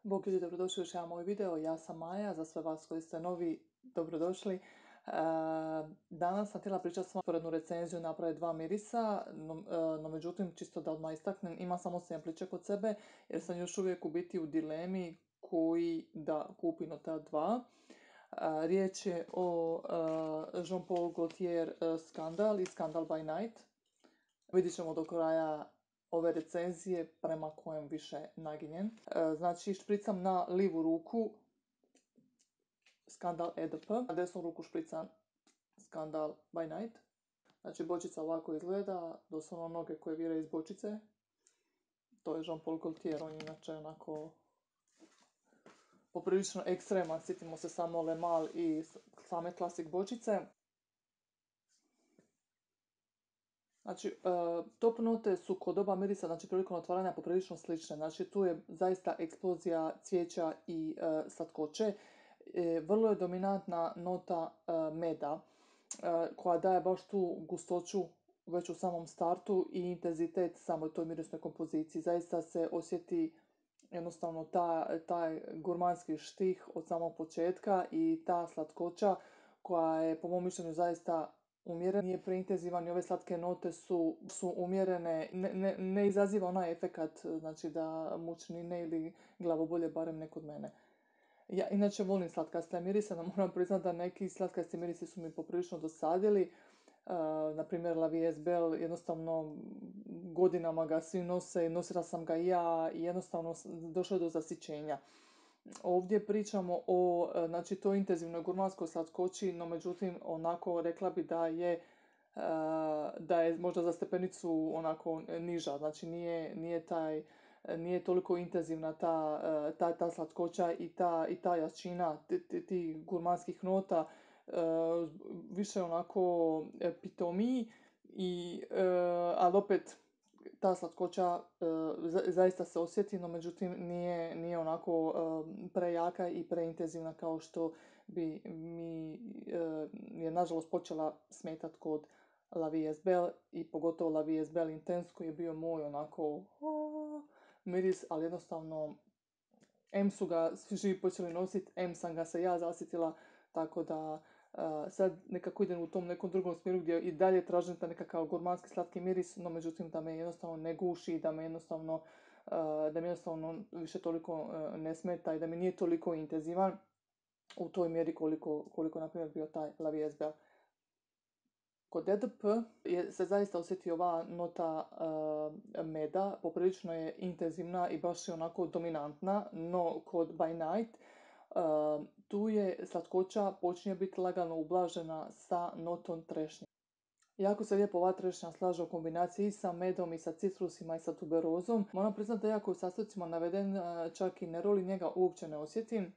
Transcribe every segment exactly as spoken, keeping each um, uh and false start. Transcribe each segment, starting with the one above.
Bog ljudi, dobrodošli u još jedan moj video. Ja sam Maja, za sve vas koji ste novi, dobrodošli. E, danas sam htjela pričati s vama usporednu recenziju napraviti dva mirisa, no, e, no međutim, čisto da odmah istaknem, ima samo sempliće kod sebe, jer sam još uvijek u biti u dilemi koji da kupim od ta dva. E, riječ je o e, Jean Paul Gaultier e, Skandal i Skandal by Night. Vidjet ćemo do kraja ove recenzije prema kojem više naginjen. E, znači, špricam na livu ruku Skandal E D P, na desnu ruku špricam Skandal by Night. Znači, bočica ovako izgleda, doslovno noge koje vire iz bočice. To je Jean Paul Gaultier, on je inače onako poprilično ekstreman, sjetimo se samo Le Mal i same klasik bočice. Znači, uh, top note su kod oba mirisa, znači prilikom otvaranja poprilično slične. Znači, tu je zaista eksplozija cvijeća i uh, slatkoće. E, vrlo je dominantna nota uh, meda, uh, koja daje baš tu gustoću već u samom startu i intenzitet samoj toj mirisnoj kompoziciji. Zaista se osjeti jednostavno ta, taj gurmanski štih od samog početka i ta slatkoća koja je po mom mišljenju zaista umjeren, nije preintenzivan i ove slatke note su, su umjerene, ne, ne, ne izaziva onaj efekat, znači da mučnine ili glavobolje, barem ne kod mene. Ja inače volim slatkaste mirise, no moram priznati da neki slatkasti mirisi su mi poprilično dosadili. Uh, na primjer La Vie est Belle, jednostavno godinama ga svi nose, nosila sam ga i ja i jednostavno došlo je do zasićenja. Ovdje pričamo o, znači, toj intenzivnoj gurmanskoj slatkoći, no međutim onako rekla bi da je uh, da je možda za stepenicu onako niža, znači nije, nije taj nije toliko intenzivna ta, ta, ta slatkoća i ta, i ta jačina tih ti gurmanskih nota, uh, više onako pitomiji, i, uh, ali opet ta slatkoća uh, zaista se osjeti, no međutim nije, nije onako uh, prejaka i preintenzivna kao što bi mi uh, je nažalost počela smetat kod La Vie est Belle i pogotovo La Vie est Belle Intense koji je bio moj onako oh, miris, ali jednostavno em su ga svi živi počeli nositi, em sam ga se ja zasjetila, tako da uh, sad nekako idem u tom nekom drugom smjeru gdje i dalje tražim ta nekakav gurmanski slatki miris, no međutim da me jednostavno ne guši, da me jednostavno, uh, da me jednostavno više toliko uh, ne smeta i da mi nije toliko intenzivan u toj mjeri koliko, koliko na primjer bio taj La Vie est Belle. Kod E D P je, se zaista osjeti ova nota uh, meda, poprilično je intenzivna i baš je onako dominantna, no kod By Night uh, tu je slatkoća počinje biti lagano ublažena sa notom trešnje. Jako se lijepo ova trešnja slaže u kombinaciji i sa medom i sa citrusima i sa tuberozom. Moram priznati da jako u sastojcima naveden, uh, čak i neroli njega uopće ne osjetim.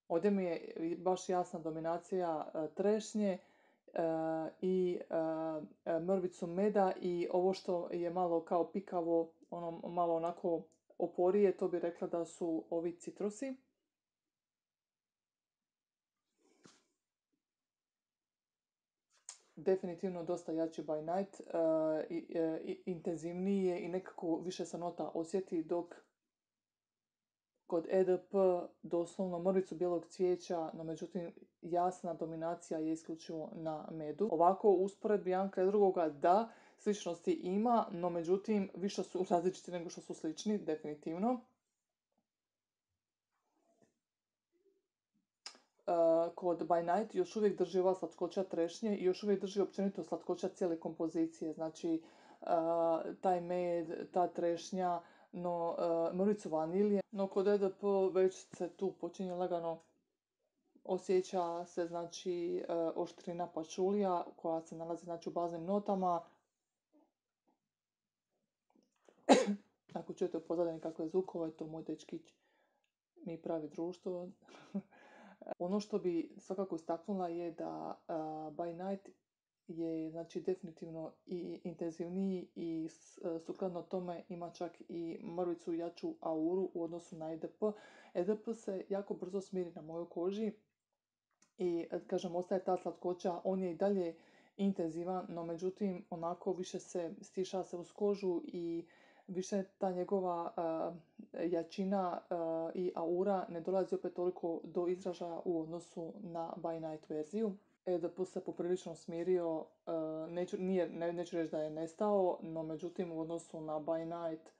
Ovdje mi je baš jasna dominacija uh, trešnje, Uh, i uh, mrvicu meda i ovo što je malo kao pikavo, ono malo onako oporije, to bi rekla da su ovi citrusi. Definitivno dosta jači By Night, uh, i, i, intenzivniji je i nekako više se nota osjeti, dok kod E D P doslovno mrvicu bijelog cvijeća, no međutim jasna dominacija je isključivo na medu. Ovako u usporedbi jedan kraj drugoga da, sličnosti ima, no međutim više su različiti nego što su slični, definitivno. Uh, kod By Night još uvijek drži ova slatkoća trešnje i još uvijek drži općenito slatkoća cijele kompozicije, znači uh, taj med, ta trešnja, no uh, mrvicu vanilije, no kod E D P već se tu počinje lagano osjeća se, znači, uh, oštrina pačulija koja se nalazi, znači, u baznim notama. Ako čujete u pozadini kakve zvukove, to moj dečkić mi pravi društvo. Ono što bi svakako istaknula je da uh, By Night je, znači, definitivno i intenzivniji i uh, sukladno tome ima čak i mrvicu jaču auru u odnosu na E D P. E D P se jako brzo smiri na mojoj koži i, kažem, ostaje ta slatkoća, on je i dalje intenzivan, no međutim onako više se stiša se uz kožu i više ta njegova uh, jačina uh, i aura ne dolazi opet toliko do izražaja u odnosu na By Night verziju. E D P se poprilično smirio, uh, neću, nije, ne, neću reći da je nestao, no međutim u odnosu na By Night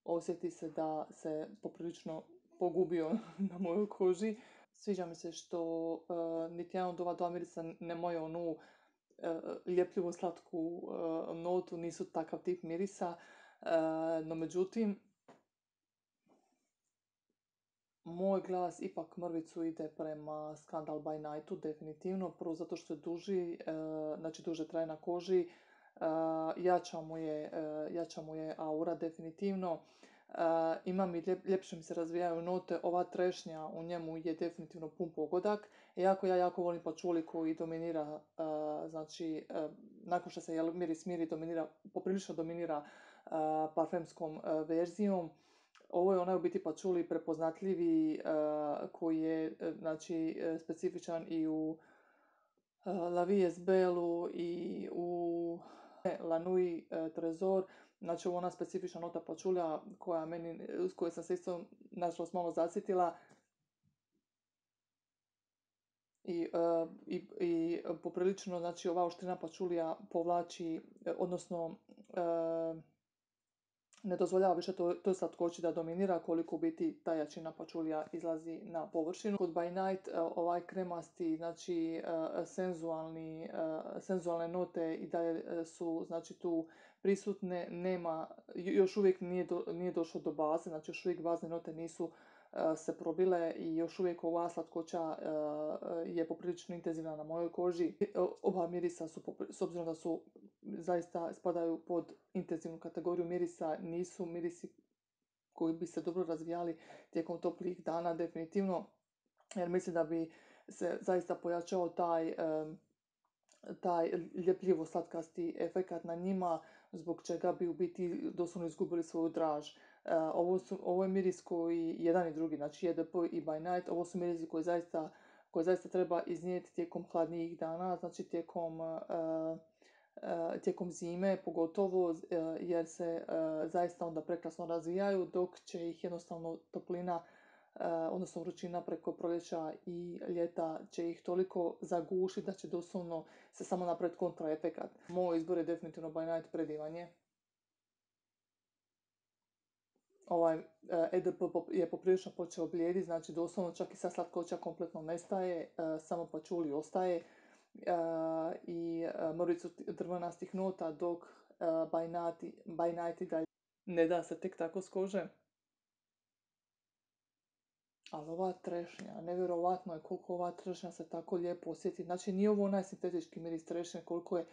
osjeti se da se poprilično pogubio na mojoj koži. Sviđa mi se što uh, niti jedan od ova dva mirisa nemaju onu uh, ljepljivu slatku uh, notu, nisu takav tip mirisa, uh, no međutim moj glas ipak mrvicu ide prema Scandal by Nightu, definitivno. Prvo zato što je duži, uh, znači duže traje na koži, uh, jača mu je, uh, jača mu je aura, definitivno. Uh, imam i ljep, ljepše mi se razvijaju note, ova trešnja u njemu je definitivno pun pogodak. Iako ja jako volim pačuli koji dominira, uh, znači uh, nakon što se jel, miris smiri, dominira, poprilično dominira uh, parfemskom uh, verzijom. Ovo je onaj u biti pačuli prepoznatljivi uh, koji je uh, znači uh, specifičan i u uh, La Vie Belu i u La Nuit uh, Trezor. Znači ovo je ona specifična nota pačulja koja meni, s kojoj sam se isto nažalost malo zasjetila. I, uh, i, i poprilično, znači ova oštrina pačulija povlači, odnosno uh, ne dozvoljava više to, to slatkoći da dominira koliko u biti ta jačina pačulija izlazi na površinu. Kod By Night ovaj kremasti, znači senzualni, senzualne note i dalje su znači tu prisutne, nema, još uvijek nije, do, nije došlo do baze, znači još uvijek bazne note nisu se probile i još uvijek ova slatkoća je poprilično intenzivna na mojoj koži. Oba mirisa su, s obzirom da su zaista spadaju pod intenzivnu kategoriju mirisa, nisu mirisi koji bi se dobro razvijali tijekom toplih dana, definitivno, jer mislim da bi se zaista pojačao taj taj ljepljivo slatkasti efekat na njima, zbog čega bi u biti doslovno izgubili svoju draž. Uh, ovo, su, ovo je miris koji, jedan i drugi, znači E D P i By Night, ovo su mirisi koji zaista, koji zaista treba iznijeti tijekom hladnijih dana, znači tijekom, uh, uh, tijekom zime pogotovo, uh, jer se uh, zaista onda prekrasno razvijaju, dok će ih jednostavno toplina, Uh, odnosno vrućina preko proljeća i ljeta će ih toliko zagušiti da će doslovno se samo napraviti kontraefekat. Moj izbor je definitivno By Night, predivan je. Ovaj uh, E D P je poprilično počeo blijedi, znači doslovno čak i sa slatkoća kompletno nestaje, uh, samo pačuli ostaje uh, i uh, mrvicu drvenastih nota, dok uh, By Night, By Night i dalje ne da se tek tako s kože. Ali ova trešnja, nevjerovatno je koliko ova trešnja se tako lijepo osjeti. Znači nije ovo onaj sintetički miris trešnje, koliko je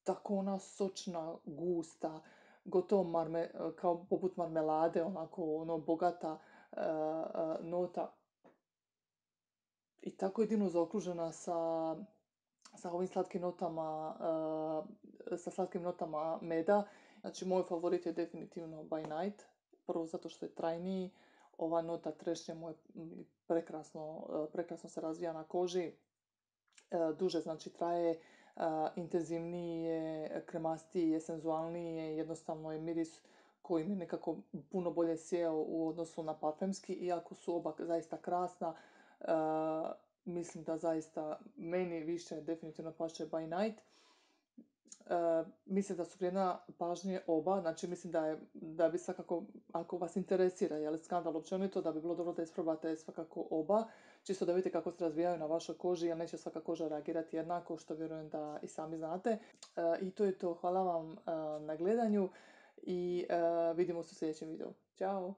tako ona sočna, gusta, gotovo marme, kao poput marmelade, onako ono bogata uh, uh, nota. I tako jedino zaokružena sa, sa ovim slatkim notama, uh, sa slatkim notama meda. Znači moj favorit je definitivno By Night. Prvo zato što je trajniji, ova nota trešnje mu je prekrasno, prekrasno se razvija na koži, duže znači traje, intenzivniji je, kremastiji je, senzualniji je, jednostavno je miris koji mi nekako puno bolje sjeo u odnosu na parfemski, iako su oba zaista krasna. Mislim da zaista meni više definitivno paše By Night. Uh, mislim da su vrijedna pažnje oba, znači mislim da je, da bi svakako, ako vas interesira je li skandal općenito, da bi bilo dobro da isprobate svakako oba, čisto da vidite kako se razvijaju na vašoj koži, jer neće svaka koža reagirati jednako, što vjerujem da i sami znate. Uh, I to je to, hvala vam uh, na gledanju i uh, vidimo se u sljedećem videu. Ćao!